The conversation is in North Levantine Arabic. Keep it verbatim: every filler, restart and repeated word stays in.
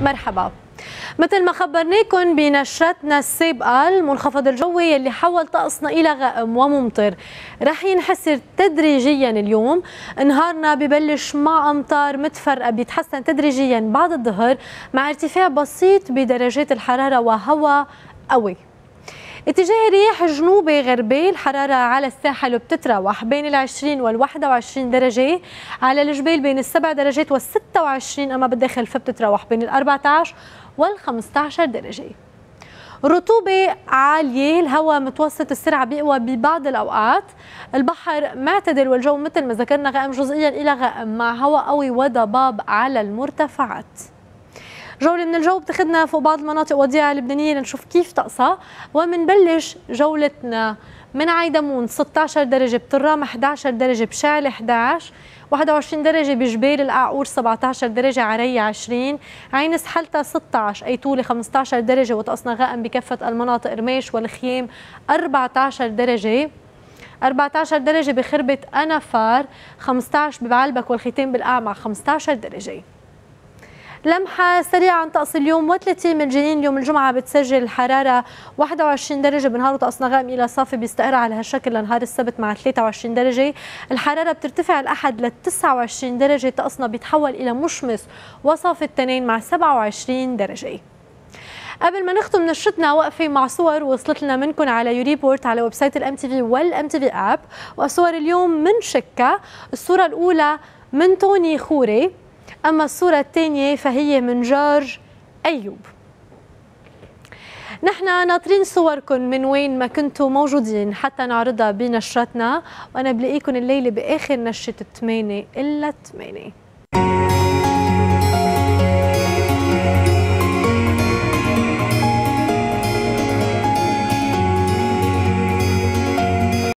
مرحبا. مثل ما خبرناكم بنشرتنا السابقة، المنخفض الجوي يلي حول طقسنا إلى غائم وممطر رح ينحسر تدريجيا اليوم. نهارنا ببلش مع أمطار متفرقة بيتحسن تدريجيا بعد الظهر مع ارتفاع بسيط بدرجات الحرارة وهواء قوي. اتجاه رياح جنوبي غربي، الحرارة على الساحل بتتراوح بين العشرين والواحد وعشرين درجة، على الجبال بين السبع درجات والستة وعشرين، أما بالداخل فبتتراوح بين الأربعة عشر والخمسة عشر درجة. رطوبة عالية، الهواء متوسط السرعة بيقوى ببعض الأوقات، البحر معتدل والجو مثل ما ذكرنا غائم جزئيا إلى غائم مع هواء قوي وضباب على المرتفعات. جولة من الجو بتاخدنا فوق بعض المناطق وديعة اللبنانية لنشوف كيف طقسها، ومنبلش جولتنا من عيدمون ستة عشر درجة، بطرام إحدى عشر درجة، بشعل إحدى عشر، واحد وعشرين درجة بجبال القعقور، سبعة عشر درجة عرية، عشرين، عين سحلتا ستة عشر، أيتولة خمسة عشر درجة وطقسنا غائم بكافة المناطق، رميش والخيام أربعة عشر درجة، أربعة عشر درجة بخربة أنفار، خمسة عشر ببعلبك والختام بالقعمع خمسة عشر درجة. لمحة سريعة عن طقس اليوم وثلاثين من جنين. اليوم الجمعة بتسجل الحرارة واحد وعشرين درجة بنهار وطقسنا غائم إلى صافي بيستقر على هالشكل لنهار السبت مع ثلاثة وعشرين درجة. الحرارة بترتفع الأحد ل تسعة وعشرين درجة، طقسنا بيتحول إلى مشمس وصافي التنين مع سبعة وعشرين درجة. قبل ما نختم نشرتنا وقفة مع صور وصلت لنا منكم على يوريبورت على ويب سايت الام تي في والام تي في اب، وصور اليوم من شكا. الصورة الأولى من توني خوري، أما الصورة الثانية فهي من جورج أيوب. نحن ناطرين صوركم من وين ما كنتوا موجودين حتى نعرضها بنشرتنا، وأنا بلاقيكم الليلة بآخر نشرة ثمانية إلا ثمانية.